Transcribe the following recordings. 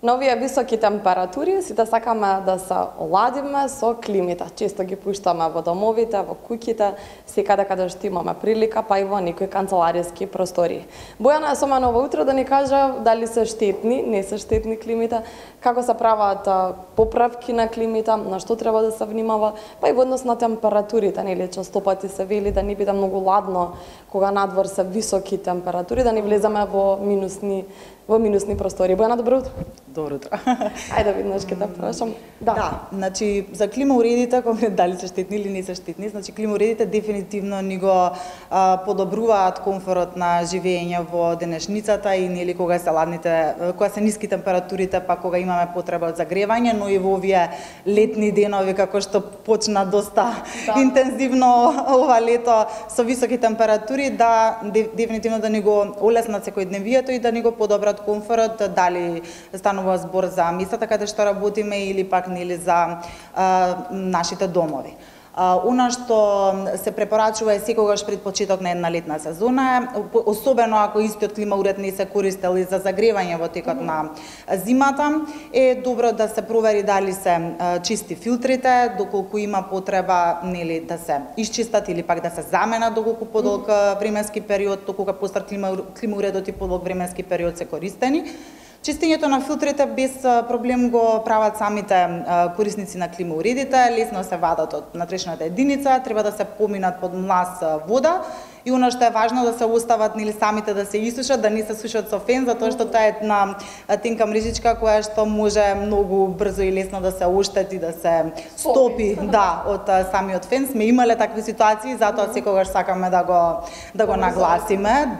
На овие високи температури сите сакаме да се оладиме со климите. Често ги пуштаме во домовите, во куќите, секаде каде што имаме прилика, па и во некои канцелариски простори. Бојана е со мене ова утро да ни каже дали се штетни, не се штетни климите, како се прават поправки на климите, на што треба да се внимава, па и во однос на температурите, нели често пати се вели да не биде многу ладно кога надвор се високи температури, да не влеземе во минусни простори. Бојана, добро утро. Добро утро. Ајде виднаш ке да прашам. Да, значи за климауредите, дали се штетни или не се штетни, значи климауредите дефинитивно ни го подобруваат комфорот на живење во денешницата и нели кога се ниски температурите, па кога имаме потреба од загревање, но и во овие летни денови како што почна доста интензивно ова лето со високи температури, да дефинитивно да ни го олеснат секојдневието и да ни го подобрат комфорот, дали станува збор за местата каде што работиме или пак нели за нашите домови. Она што се препорачува е секогаш пред почеток на една летна сезона, особено ако истиот климауред не се користел и за загревање во текот на зимата, е добро да се провери дали се чисти филтрите, доколку има потреба нели да се исчистат или пак да се заменат доколку подолг временски период, доколку постар климауредот и подолг временски период се користени. Чистењето на филтрите без проблем го прават самите корисници на климауредите, лесно се вадат од натрешната единица, треба да се поминат под млас вода и она што е важно да се остават нели самите да се исушат, да не се сушат со фен, затоа што тоа е една тенка мрежичка која што може многу брзо и лесно да се оштети, да се стопи, од самиот фен. Сме имале такви ситуации, затоа секогаш сакаме да го нагласиме,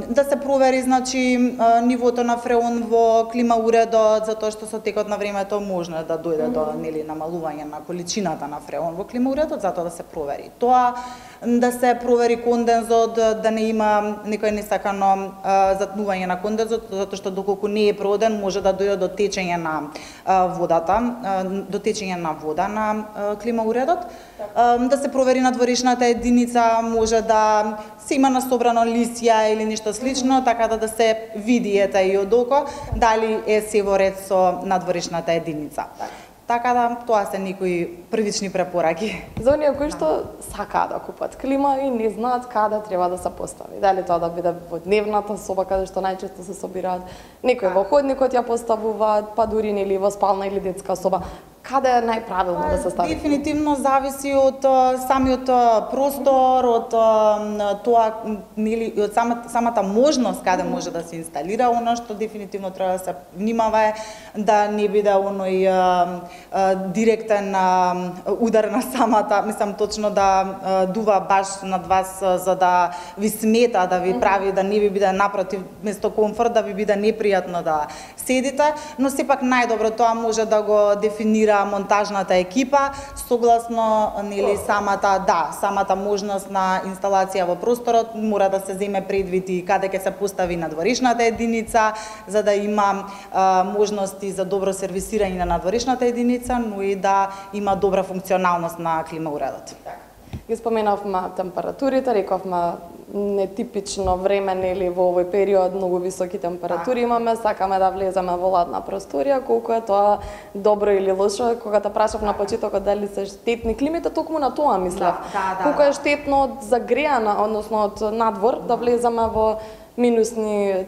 да се провери значи нивото на фреон во климауредот, затоа што со текот на времето може да дојде до нели намалување на количината на фреон во климауредот, затоа да се провери. Тоа да се провери кондензот, да не има некој несакано затнување на кондензот, затоа што доколку не е проден може да дојде до течење на водата, до течење на вода на климауредот. Да се провери надворешната единица, може да се има насобрано лисја или нешто слично, така да се види и од око дали е се во ред со надворешната единица. Така да, тоа се некои првични препораки. За оние кои што сакаат да купат клима и не знаат каде треба да се постави. Дали тоа да биде во дневната соба каде што најчесто се собираат, некои во ходникот ја поставуваат, па дури нели во спална или детска соба. Каде е најправилно да се стави? Дефинитивно зависи од самиот простор, од тоа нели од самата можност каде може да се инсталира. Оно што дефинитивно треба да се внимава е да не биде оној директен удар на самата, мислам точно да дува баш над вас за да ви смета, да ви прави да не ви биде напротив место комфорт, да ви биде непријатно да седите, но сепак најдобро тоа може да го дефинира монтажната екипа согласно нели самата можност на инсталација во просторот, мора да се земе предвид и каде ќе се постави надворешната единица за да има можности за добро сервисирање на надворешната единица, но и да има добра функционалност на климауредот. Ги споменавме температурите, рековме нетипично време нели во овој период, многу високи температури имаме, сакаме да влеземе во ладна просторија, колку е тоа добро или лошо. Кога те прашав на почетокот дали се штетни климите, токму на тоа мислев. Колку е штетно од загреана, односно од надвор да влеземе во минусни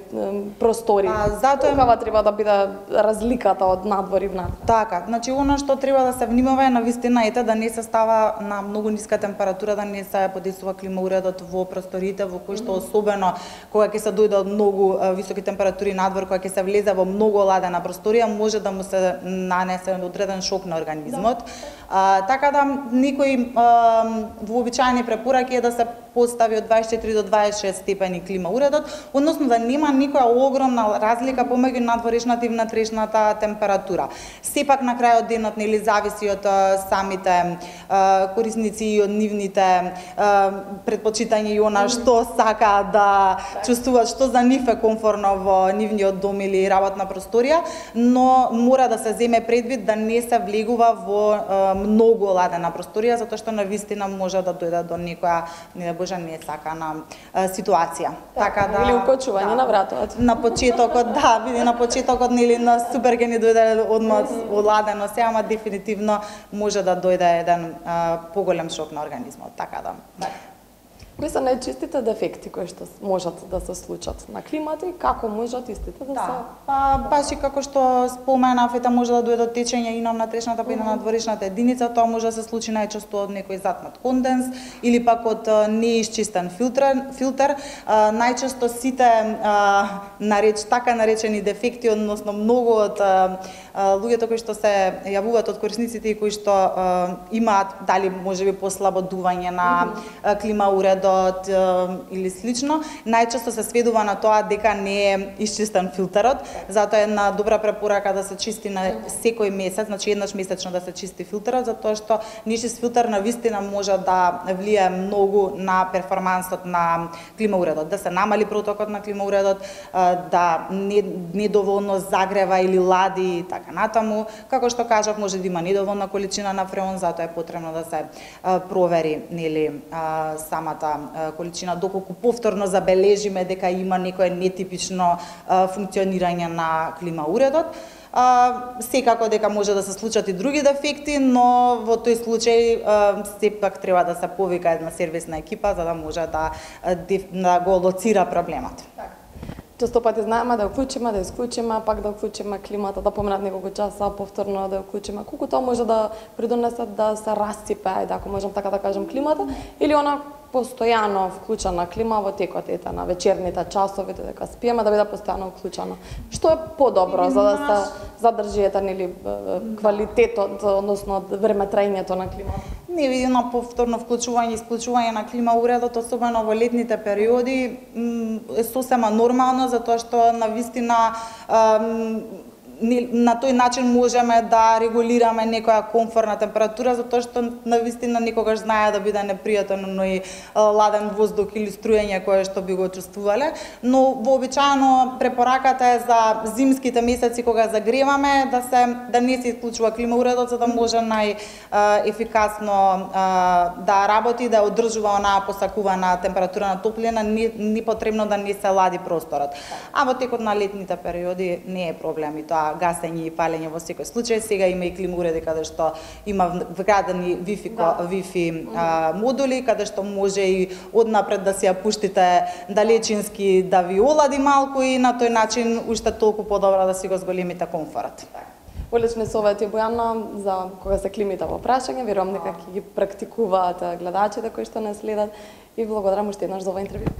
простори. Каква треба да биде разликата од надвор и внатре? Така, значи она што треба да се внимава е навистина ете да не се става на многу ниска температура, да не се подесува климауредот во просторите во кои што особено кога ќе се дојде од многу високи температури надвор, кога ќе се влезе во многу ладена просторија, може да му се нанесе одреден шок на организмот. Така да некои вообичаени препораки е да се постави од 24 до 26 степени климауредот, односно да нема никоја огромна разлика помеѓу надворешната и внатрешната температура. Сепак на крајот денот нели зависи од самите корисници и од нивните предпочитања и она што сака да чувствуваат, што за нив е комфорно во нивниот дом или работна просторија, но мора да се земе предвид да не се влегува во многу ладена просторија, затоа што навистина може да дојде до некоја, не да боже несакана ситуација. Така да или укочување на вратот. На почетокот, да, види на почетокот нели на супер ќе ни дојде одмор оладено се, ама дефинитивно може да дојде еден поголем шок на организмот, така да. Кои се најчистите дефекти кои што можат да се случат на климата и како можат истите да се... Па баш и како што споменав, може да дојде течење и на внатрешната па и на надворешната единица, тоа може да се случи најчесто од некој затмат конденс или пак од неисчистен филтер. Најчесто сите така наречени дефекти, односно многу од луѓето кои што се јавуваат од корисниците и кои што имаат дали можеби послабо дување на клима уредот или слично, најчесто се сведува на тоа дека не е исчистен филтерот, затоа е една добра препорака да се чисти на секој месец, значи еднаш месечно да се чисти филтерот, затоа што нечист филтер навистина може да влијае многу на перформансот на климауредот, да се намали протокот на климауредот, да недоволно загрева или лади и така натаму. Како што кажав, може да има недоволна количина на фреон, затоа е потребно да се провери нели самата количина, доколку повторно забележиме дека има некое нетипично функционирање на климауредот. Секако дека може да се случат и други дефекти, но во тој случај сепак треба да се повика една сервисна екипа за да може да го лоцира проблемот. Често пати знаеме да уклучиме, да исклучиме, пак да уклучиме климата, да поминат неколку часа, повторно да уклучиме. Колку тоа може да придонесе да се расципе, ајде ако можам така да кажам, климата, или она постојано вклучена клима во текот на вечерните часови, додека спиеме, да биде постојано вклучена. Што е подобро за да се задржи или квалитетот, односно времетраењето на климата? Не види на повторно вклучување и исклучување на климауредот, особено во летните периоди, е сосема нормално, затоа што навистина на тој начин можеме да регулираме некоја комфортна температура, затоа што навистина никогаш знае да биде непријатен оној ладен воздух или струјење кое што би го чувствувале, но вообичаено препораката е за зимските месеци кога загреваме да не се исклучува климауредот за да може најефикасно да работи, да одржува онаа посакувана температура на топлина, не потребно да не се лади просторот. А во текот на летните периоди не е проблем и тоа гасење и палење во секој случај. Сега има и климауреди каде што има вградени Wi-Fi модули, каде што може и однапред да се ја пуштите далечински да ви олади малку и на тој начин уште толку подобро да си го зголемите комфорот. Одлични совети, Бојана, за кога се климите во прашање. Верувам дека ќе ги практикуваат гледачите кои што не следат и благодарам уште еднаш за оваа интервју.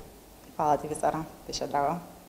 Фала ти, Весара, беше драго.